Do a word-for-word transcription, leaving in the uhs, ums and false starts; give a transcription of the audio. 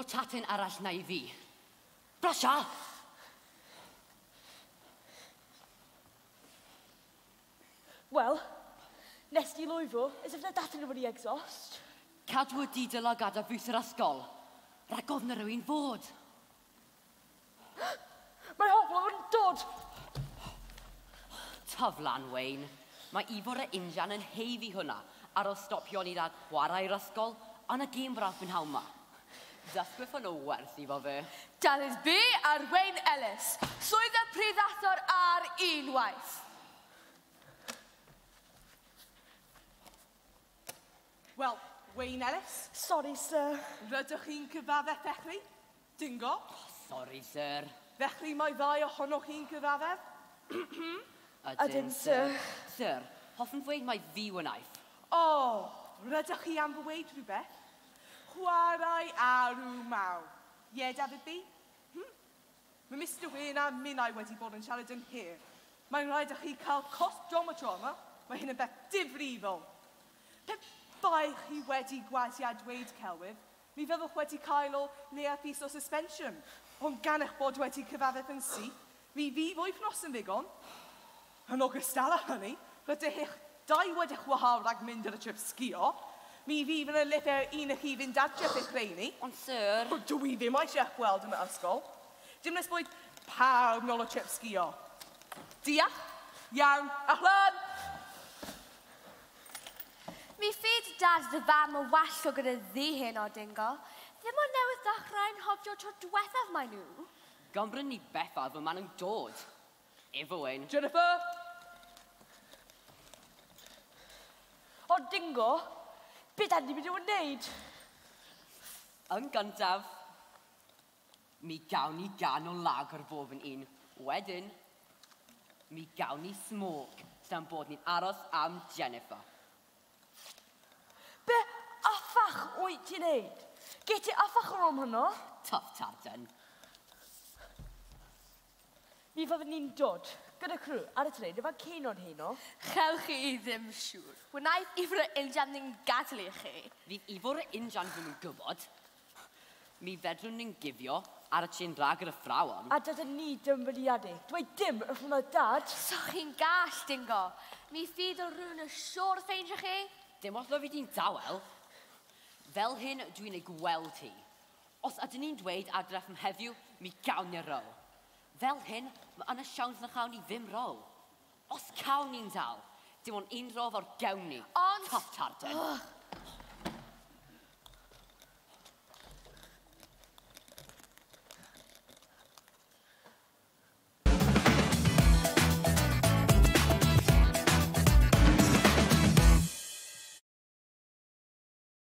Ro tatyn arall na i fi. Brasia! Wel, nes di lwyfo, as if na datyn wedi exhaust. Cadw y didl a gada fws yr ysgol. Rhag ofn na rhywun fod. Mae hobl yn dod! Tyflan, Wayne. Mae Ifor y injan yn heifi hwnna ar ôl stopio ni rhag chwarae'r ysgol yn y gêm braf prynhawn ma. Dysgwyff o'n o werth i fo fe. Dafydd B ar Wayne Ellis. Swydd y prifathor ar unwaith. Wel, Wayne Ellis. Sorry, sir. Rydych chi'n cyfaddef felly? Dingo? Oh, sorry, sir. Felly mae ddau ohonoch chi'n cyfaddef? Ydyn, sir. Sir, hoffwn ddweud mai fi wnaeth. O, oh, rydych chi am ddweud rhywbeth? Chwarae arw mawr. Ie, Dafydd B? Hm? Mae Mister Wayne a minnau wedi bod yn siarad yn hir. Mae'n rhaid i chi cael cost dromatro yma. Mae hyn yn beth difrifol. Pe bai chi wedi gwazi a dweud celwydd, mi fyddwch wedi cael o leia piece o suspension. Ond gan eich bod wedi cyfaddef yn syth, mi fydd wythnos yn ddigon. Yn ogystal â hynny, rydych eich dau wedi'ch wahardd rhag mynd ar y trip sgio. Mi fydd yn y lyfr un i chi fynd adref eich rheini. Ond sir... Dwi ddim eisiau eich gweld yn yr ysgol. Dim nes bod pawb nôl o trip sgio. Diolch, iawn, ahlan! Mi ffyd dad dy fam o wallgo gyda ddi hyn o Dingo. Ddim ond newydd ddechrau'n hofio tro diwethaf mae nhw. Gymryn ni bethau fy maen nhw'n dod. Efo Wayne. Jennifer! O Dingo, be da ni'n mynd i wneud? Yn gyntaf, mi gawn ni gan o lager bob yn un. Wedyn, mi gawn ni smoke, sa'n bod ni'n aros am Jennifer. Be affach wyt ti'n neud? Get ti affach o'r om hwnnw? Tough tartan. Mi fyddwn ni'n dod gyda crew ar y tren efo Ceinon heno. Chewch chi ddim siŵr. Wnaeth Ifor y injan ddim gadael i chi. Fydd Ifor y injan ddim yn gwybod. Mi fedrwn ni'n gifio ar y trên rhag yr athrawon. A dydyn ni dim filiadu. Dweud dim wrth hwnna dad. So chi'n gall, Dingo. Mi fydd o rhywun yn siŵr ffeindio chi. Dim os fi di'n dawel. Fel hyn dwi'n ei gweld hi. Os ydyn ni'n dweud adref am heddiw, mi gawn ni row. Fel hyn, mae yna siawns na chawn ni ddim row. Os cawn ni'n dal, dim ond un row o'r gawn ni. Ond... Tough tartan. Ugh.